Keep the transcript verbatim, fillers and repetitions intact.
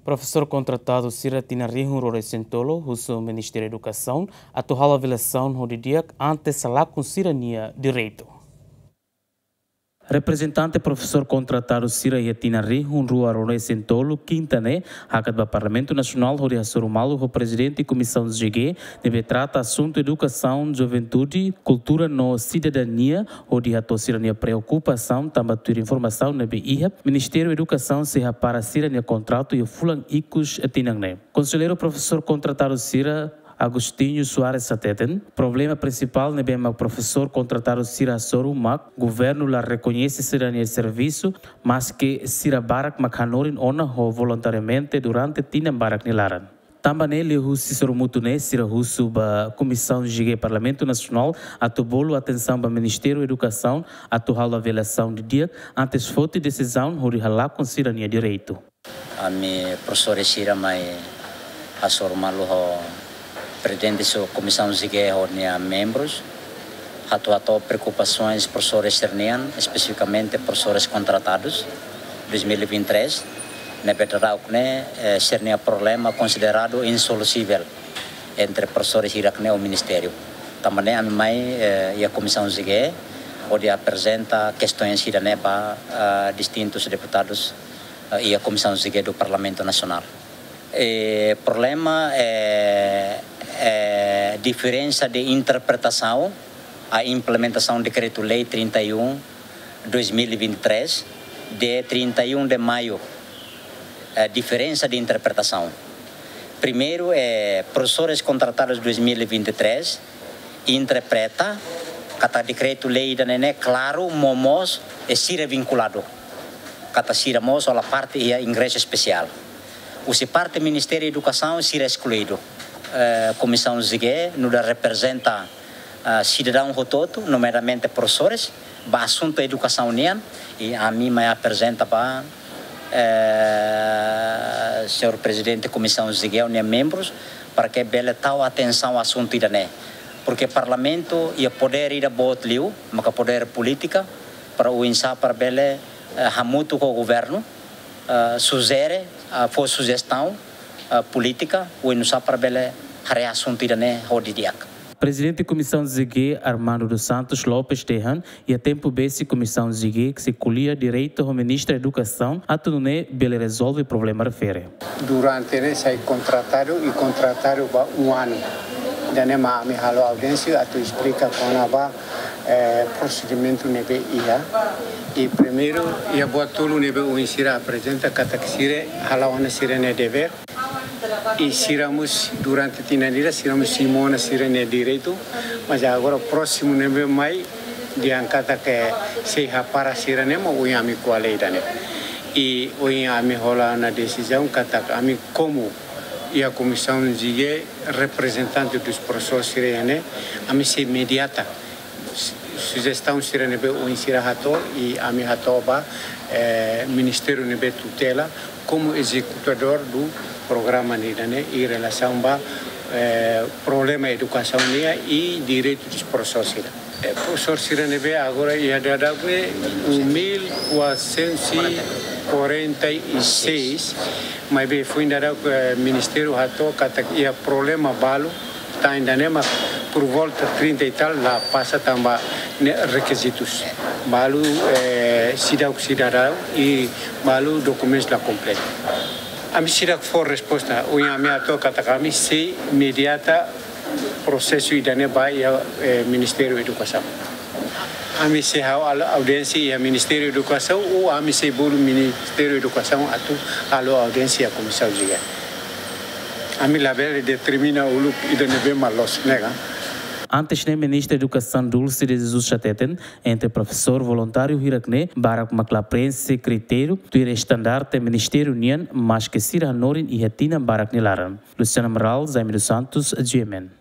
Profesór kontratadu sira tinan rihun rua resin tolu husu Ministériu Edukasaun atu halo avaliasaun ho didi'ak antes halakon sira-nia direitu. Reprezentante profesór kontratadu sira iha tinan rihun rua rua resin tolu, kinta ne'e, hakat ba Parlamentu Nasionál hodi hasoru malu ho Prezidente Komisaun G G ne'ebé trata asuntu edukasaun, juventude, kultura no sidadania, hodi hato'o sira-nia preokupasaun tanba tuir informasaun ne'ebé iha, Ministériu Edukasaun sei hapara sira-nia kontratu iha fulan ikus tinan ne'e. Konselleiru profesór kontratadu sira, Agostinho Soares hateten, problema prinsipál ne'ebé mak profesór kontratadu sira hasoru mak governu la rekoñese sira-nia servisu, maske sira barak mak hanorin ona ho voluntariamente durante tinan barak nia laran. Tanba ne'e, liuhusi sorumutu ne'e, sira husu ba Komisaun G G Parlamentu Nasionál atu bolu atensaun ba Ministériu Edukasaun atu halo avaliasaun didi'ak antes foti desizaun hodi halakon sira-nia direitu. Ami profesores sira mai hasoru malu ho Prezidente Komisaun G G ho nia membrus, atu hato'o preokupasoens profesores sira-nian, espesifikamente profesores kontratadus dois mil e vinte e três, ne'ebé daudaun ne'e, eh, sira-nia problema konsideradu insolúvel entre profesores hirak-ne'e ho Ministériu. Tanba ne'e ami mai, eh, iha Komisaun G G, hodi aprezenta kestoens ida-ne'e ba, eh, distintus deputadus, eh, iha Komisaun G G do Parlamentu Nasionál. Eh, problema, eh, eh, diferensa de interpretasaun a implementasaun Dekretu-Lei trinta e um, dois mil e vinte e três, de trinta e um de maio, eh, diferensa de interpretasaun. Primeiru, eh, profesores kontratadus dois mil e vinte e três interpreta katak dekretu-lei ida-ne'e klaru, no mós, eh, sira vinkuladu, katak sira mós hola parte iha ingresu espesiál. Husi parte Ministériu Edukasaun sira eskluidu. Eh, Komisaun G G nu'udar reprezenta, ah, sidadaun hotu-hotu, nomeadamente profesores, ba asuntu edukasaun nian, i ami mai aprezenta ba, eh, señór Prezidente Komisaun G G ho nia membrus, para ke bele tau atensaun asuntu ida-ne'e. Porque Parlamentu iha podér ida boot liu, maka podér polítika, para oinsá para bele, eh, hamutuk ho governu, eh, sujere, eh, fó sujestaun, eh, polítika, oinsá para bele haree asuntu ida-ne'e ho didi'ak. Prezidente Komisaun G G, Armando dos Santos Lopes, dehan iha tempu besik Komisaun G G sei ko'alia diretu ho Ministra Edukasaun atu nune'e bele rezolve problema refere. Durante ne'e sai kontratadu i kontratadu ba um anu. Ida-ne'e mak ami halo audiénsia atu esplika kona-ba, eh, prosedimentu ne'ebé iha. I primeiru, iha buat tolu ne'ebé ohin sira aprezenta katak sira hala'o ona sira-nia devér. I sira mós durante tinan ida, sira mós simu ona sira-nia direitu. Mas agora prósimu ne'ebé mai, dehan katak sei hapara sira-ne'e mak ohin ami ko'alia ida-ne'e. I ohin ami hola ona desizaun katak ami komu iha Komisaun G G reprezentante dos profesores sira iha ne'e, ami sei mediata su-, sujestaun sira ne'ebé ohin sira hato'o i ami hato'o ba, eh, Ministériu ne'ebé tutela, komu ezekutadór do programa ida-ne'e, em relação ba, eh, problema edukasaun nian i direitu dos profesores sira. Eh, profesór sira ne'ebé agora iha daudaun ne'e um mil quatrocentos e quarenta e seis, maibé foin daudaun, eh, Ministériu hato'o katak iha problema balu, tan ida-ne'e mak por volta trinta e tal la pasa tanba ne'e rekizitus. Balu, eh, seidauk sidadaun i balu dokumentus la kompletu. Ami seidauk fó resposta, ohin ami hato'o katak ami sei mediata prosesu ida-ne'e ba iha, eh, Ministériu Edukasaun. Ami sei halo audiénsia iha Ministériu Edukasaun, ou ami sei bolu Ministériu Edukasaun atu halo audiénsia iha Komisaun G G. Ami labele determina uluk ida ne'ebé mak loos, ne'e ka. Antes ne'e, Ministra Edukasaun Dulce de Jesus hateten, entre profesór voluntáriu hirak-ne'e, barak mak la preenxe kritériu tuir estandarte ministériu nian, maske sira hanorin iha tinan barak nia laran. Luciano Amaral, Jaime dos Santos, G M N.